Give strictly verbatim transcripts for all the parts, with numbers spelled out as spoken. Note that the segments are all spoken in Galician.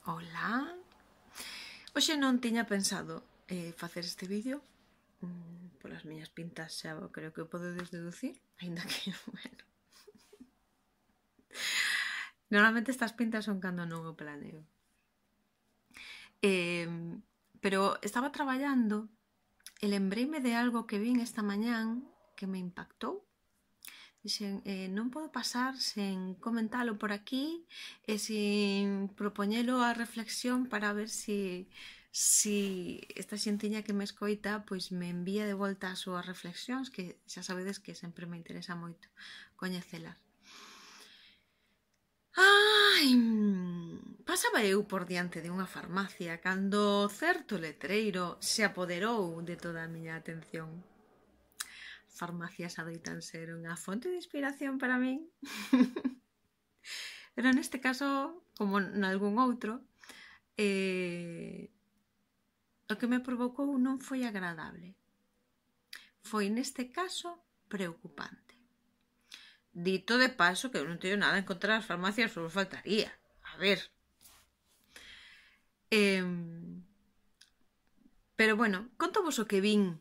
Ola! Hoxe non tiña pensado eh, facer este vídeo. mm, Polas miñas pintas xa creo que o podedes deducir, aínda que, bueno... Normalmente estas pintas son cando non o planeo. Eh, pero estaba traballando e lembreime de algo que vin esta mañán que me impactou. Dixen, eh, non podo pasar sen comentalo por aquí e sin propoñelo a reflexión para ver si, si esta xentiña que me escoita pois me envía de volta as súas reflexións, que xa sabedes que sempre me interesa moito coñecelas. Ai, pasaba eu por diante de unha farmacia cando certo letreiro se apoderou de toda a miña atención. Farmacias adoitan ser unha fonte de inspiración para min. Pero neste caso, como nalgún outro, eh, o que me provocou non foi agradable. Foi neste caso preocupante. Dito de paso que eu non teño nada en contra das farmacias, só faltaría. A ver. Eh, pero bueno, conto vos o que vin.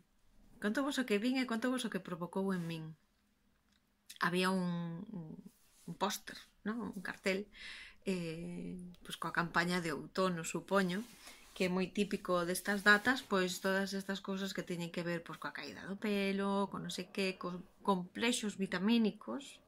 Conto vos o que vin e conto vos o que provocou en min. Había un, un, un póster, ¿no? Un cartel, eh, pois coa campaña de outono, supoño, que é moi típico destas datas, pois todas estas cousas que teñen que ver pois coa caída do pelo, con non sei que, con complexos vitamínicos,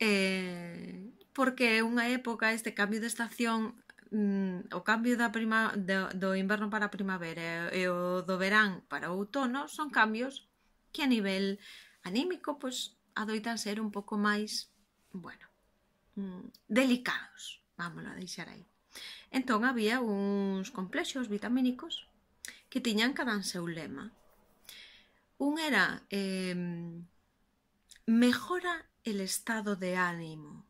eh, porque é unha época, este cambio de estación, mm, o cambio da prima, do, do inverno para a primavera e o do verán para o outono son cambios que a nivel anímico pois adoitan ser un pouco máis, bueno, mm, delicados, vámonos a deixar aí. Entón había uns complexos vitamínicos que tiñan cada en seu lema. Un era eh, mejora el estado de ánimo.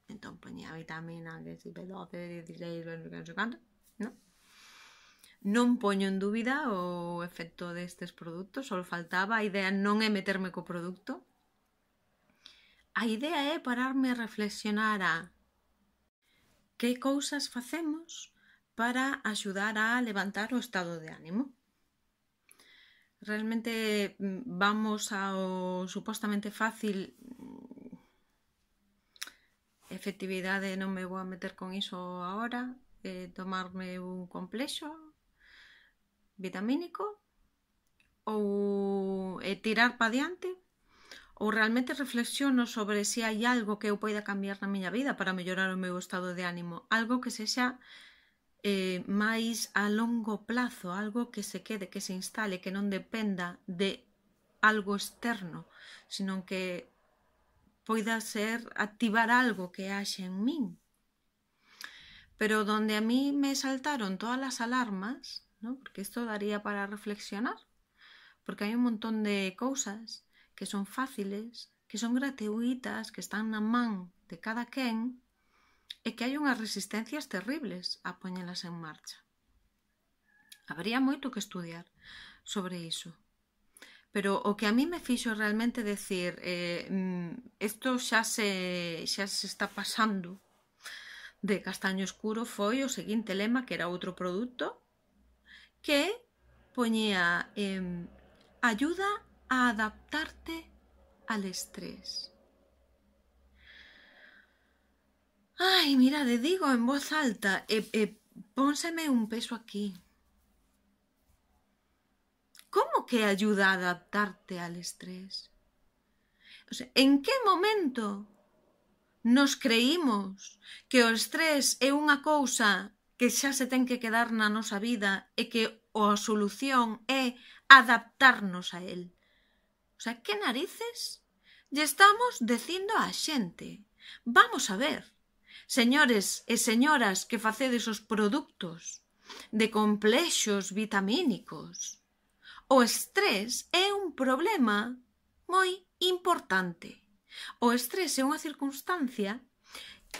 Entón poñía vitamina que si P doce, dieciséis, non sei canto, non? Non poño en dúbida o efecto destes produtos, só faltaba, a idea non é meterme co produto. A idea é pararme a reflexionar a que cousas facemos para axudar a levantar o estado de ánimo. Realmente vamos ao supostamente fácil. Efectividade non me vou a meter con iso agora. Eh, tomarme un complexo vitamínico ou eh, tirar pa diante, ou realmente reflexiono sobre se hai algo que eu poida cambiar na miña vida para mellorar o meu estado de ánimo, algo que sexa eh, máis a longo plazo, algo que se quede, que se instale, que non dependa de algo externo, sino que poida ser activar algo que haxe en min. Pero donde a mí me saltaron todas as alarmas, ¿no? Porque isto daría para reflexionar, porque hai un montón de cousas que son fáciles, que son gratuitas, que están na man de cada quen, e que hai unhas resistencias terribles a poñelas en marcha. Habería moito que estudiar sobre iso. Pero o que a mí me fixo realmente decir eh, isto xa se, xa se está pasando de castaño escuro foi o seguinte lema, que era outro produto, que poñía eh, ayuda a adaptarte al estrés. Ai, mirade, digo en voz alta e, e pónseme un peso aquí. Como que ayuda a adaptarte al estrés? O sea, en que momento nos creímos que o estrés é unha cousa que xa se ten que quedar na nosa vida e que a solución é adaptarnos a él? O sea, que narices lle estamos dicindo á xente? Vamos a ver, señores e señoras que facedes os produtos de complexos vitamínicos, o estrés é un problema moi importante. O estrés é unha circunstancia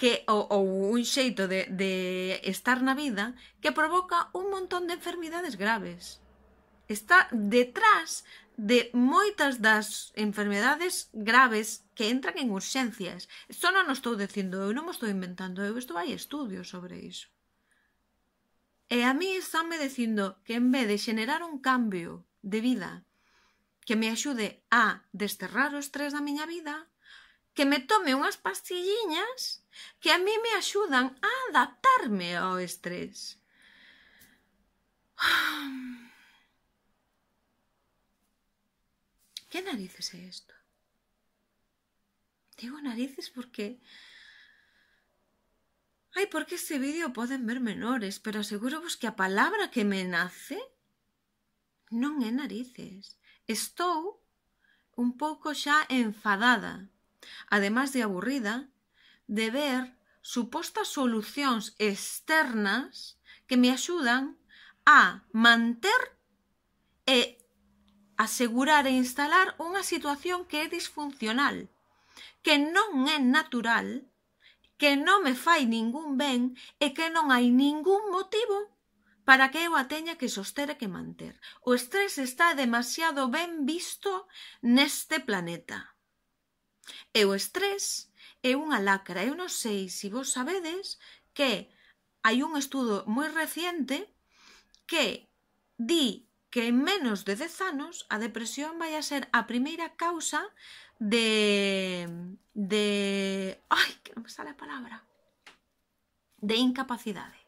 que, ou, ou un xeito de, de estar na vida que provoca un montón de enfermidades graves. Está detrás de moitas das enfermedades graves que entran en urxencias. Isto non o estou dicindo eu, non me estou inventando eu, isto hai estudios sobre iso. E a mí estánme dicindo que en vez de xenerar un cambio de vida que me axude a desterrar o estrés da miña vida, que me tome unhas pastilliñas que a mí me axudan a adaptarme ao estrés. Que narices é isto? Digo narices porque... Ai, porque este vídeo poden ver menores, pero aseguro vos que a palabra que me nace non é narices. Estou un pouco xa enfadada, ademais de aburrida, de ver supostas solucións externas que me axudan a manter e asegurar e instalar unha situación que é disfuncional, que non é natural, que non me fai ningún ben e que non hai ningún motivo para que eu a teña que soster e que manter. O estrés está demasiado ben visto neste planeta. E o estrés é unha lacra. Eu non sei se vos sabedes que hai un estudo moi reciente que di que en menos de dez anos a depresión vai a ser a primeira causa de... de... ai, que non me sale a palabra. De incapacidade.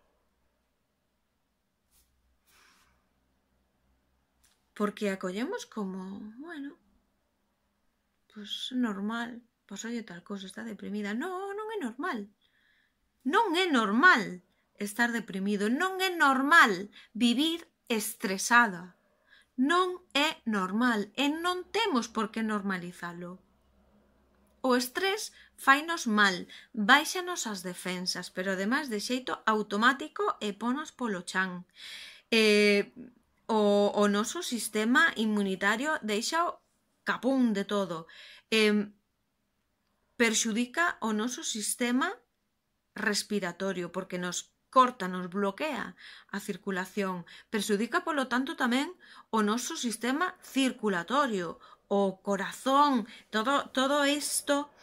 Porque acollemos como, bueno, pues normal, pues oye tal cosa, está deprimida. No, non é normal. Non é normal estar deprimido, non é normal vivir estresada. Non é normal e non temos por que normalizalo. O estrés fainos mal, baixanos as defensas, pero ademais de xeito automático e ponos polo chan. E... O, o noso sistema inmunitario deixa o capún de todo. Eh, perxudica o noso sistema respiratorio porque nos corta, nos bloquea a circulación. Perxudica, polo tanto, tamén o noso sistema circulatorio, o corazón, todo, todo isto,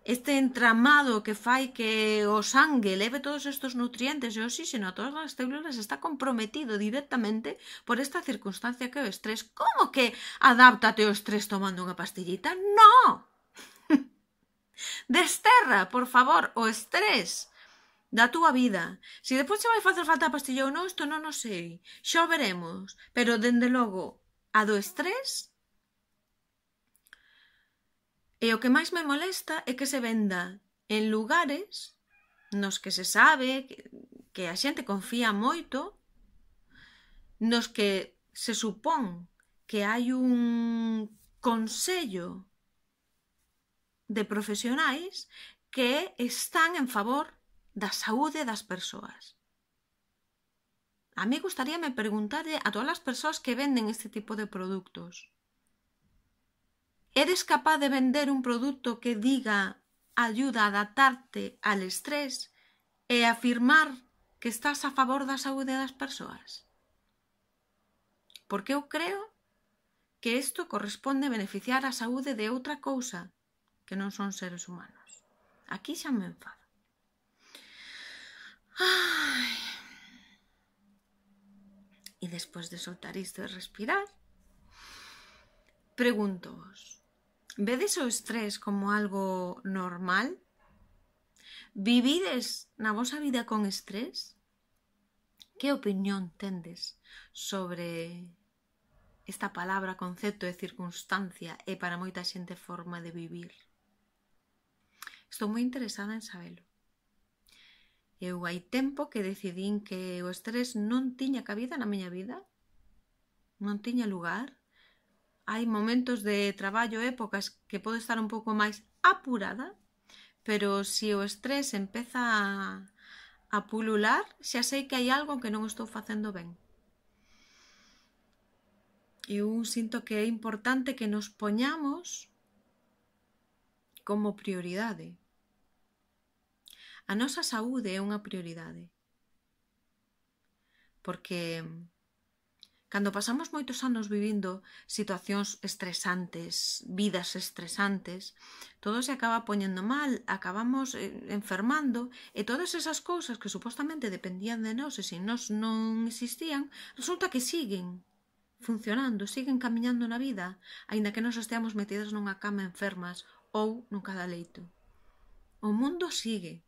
este entramado que fai que o sangue leve todos estes nutrientes e oxígeno a todas as células está comprometido directamente por esta circunstancia que é o estrés. Como que adáptate ao estrés tomando unha pastillita? No! Desterra, por favor, o estrés da túa vida. Se depois che vai facer falta a pastilla ou non, isto non o sei. Xa o veremos. Pero, dende logo, a do estrés... E o que máis me molesta é que se venda en lugares nos que se sabe que, que a xente confía moito, nos que se supón que hai un consello de profesionais que están en favor da saúde das persoas. A mí gustaríame preguntarle a todas as persoas que venden este tipo de produtos: ¿eres capaz de vender un producto que diga ayuda a adaptarte al estrés e afirmar que estás a favor da saúde das persoas? Porque eu creo que isto corresponde beneficiar a saúde de outra cousa que non son seres humanos. Aquí xa me enfado. Ai. E despois de soltar isto e respirar, pregunto-vos: vedes o estrés como algo normal? Vivides na vosa vida con estrés? Que opinión tendes sobre esta palabra, concepto e circunstancia e para moita xente forma de vivir? Estou moi interesada en sabelo. Eu hai tempo que decidín que o estrés non tiña cabida na miña vida, non tiña lugar. Hai momentos de traballo, épocas que podo estar un pouco máis apurada, pero se o estrés empeza a, a pulular, xa sei que hai algo que non estou facendo ben. Eu sinto que é importante que nos poñamos como prioridade. A nosa saúde é unha prioridade. Porque Cando pasamos moitos anos vivindo situacións estresantes, vidas estresantes, todo se acaba poñendo mal, acabamos eh, enfermando, e todas esas cousas que supostamente dependían de nós e se nós non existían, resulta que siguen funcionando, siguen camiñando na vida, aínda que nós esteamos metidas nunha cama enfermas ou nun cada leito. O mundo sigue.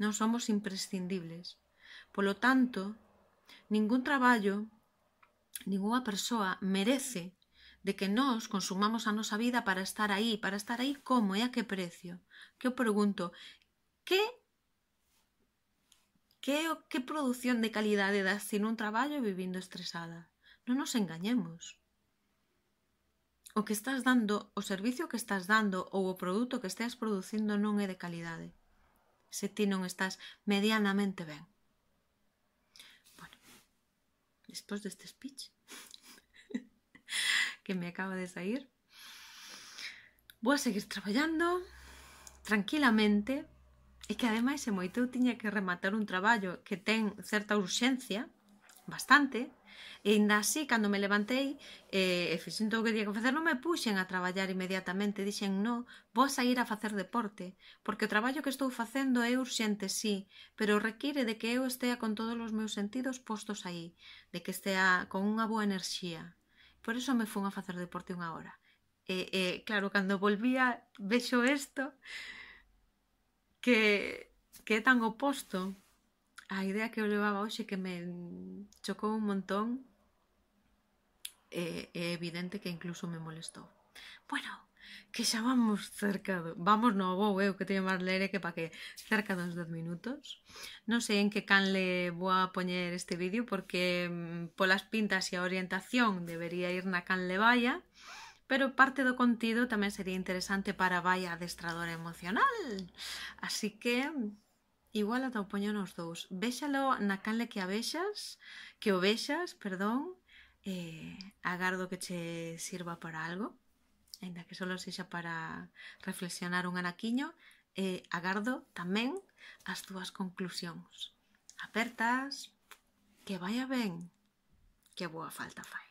Non somos imprescindibles. Polo tanto, ningún traballo, ningunha persoa merece de que nós consumamos a nosa vida para estar aí, para estar aí como e a que precio. Que eu pregunto, que que, que produción de calidade das sin un traballo vivindo estresada? Non nos engañemos. O que estás dando, o servicio que estás dando ou o produto que estás producindo non é de calidade. Se ti non estás medianamente ben. Bueno, despois deste speech que me acaba de sair, vou a seguir traballando tranquilamente e que ademais se moito eu tiña que rematar un traballo que ten certa urxencia, bastante, e ainda así, cando me levantei e, e fixen todo o que tiña que facer, non me puxen a traballar inmediatamente, dixen, no, vou a sair a facer deporte, porque o traballo que estou facendo é urxente, sí, pero require de que eu estea con todos os meus sentidos postos aí, de que estea con unha boa enerxía. Por iso me fun a facer deporte unha hora. E, e claro, cando volvía, vexo isto, que, que é tan oposto a idea que eu levaba hoxe, que me chocou un montón. É, é evidente que incluso me molestou. Bueno, que xa vamos cerca do... Vamos, no, vou eu, que teño máis leire que pa que cerca dos dez minutos. Non sei en que canle vou a poñer este vídeo, porque polas pintas e a orientación debería ir na canle Vaya, pero parte do contido tamén sería interesante para Vaya adestradora emocional. Así que igual ata o poño nos dous. Véxalo na canle que a vexas, que o vexas, perdón. Eh, agardo que che sirva para algo, ainda que solo sexa para reflexionar un anaquiño. Eh, agardo tamén as túas conclusións. Apertas, que vaya ben, que boa falta fai.